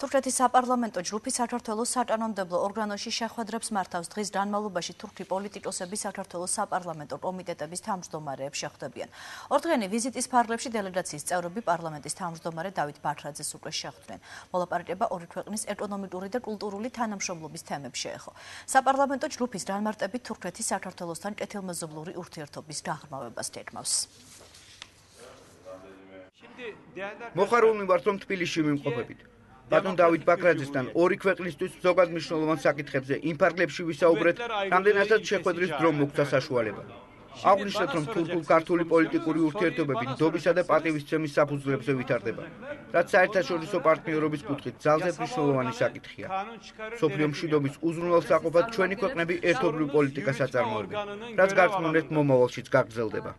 თურქეთის საპარლამენტო ჯგუფი საქართველოს საკანონმდებლო ორგანოში შეხვედრებს მართავს. დღის განმავლობაში თურქი პოლიტიკოსები საქართველოს საპარლამენტო კომიტეტების თავმჯდომარეებს შეხვდებიან. ორდღიანი ვიზიტის ფარგლებში დელეგაციის წევრები პარლამენტის თავმჯდომარე დავით ბაქრაძეს უკვე შეხვდნენ. მოლაპარაკება ორი ქვეყნის ეკონომიკური და კულტურული თანამშრომლობის თემებს შეეხო. საპარლამენტო ჯგუფის განმარტებით თურქეთი საქართველოსთან კეთილმეზობლური ურთიერთობის გაღრმავებას გეგმავს. მოხარული ვართ, რომ თბილისში ვიმყოფებით. ბატონ დავით ბაქრაძესთან ორი ქვეყნისთვის ზოგად მნიშვნელოვან საკითხებზე იმ ფარგლებში ვისაუბრეთ, რამდენადაც შეხვედრის დრო მოგცა საშუალება. აღვნიშნეთ, რომ თურქულ-ქართული პოლიტიკური ურთიერთობები ნდობისა და პატივისცემის საფუძვლებზე ვითარდება, რაც საერთაშორისო პარტნიორობის კუთხით ძალზედ მნიშვნელოვანი საკითხია. მსოფლიო მშვიდობის უზრუნველსაყოფად ჩვენი ქვეყნები ერთობლივ პოლიტიკას აწარმოებენ, რაც გარწმუნებთ მომავალშიც გაგრძელდება.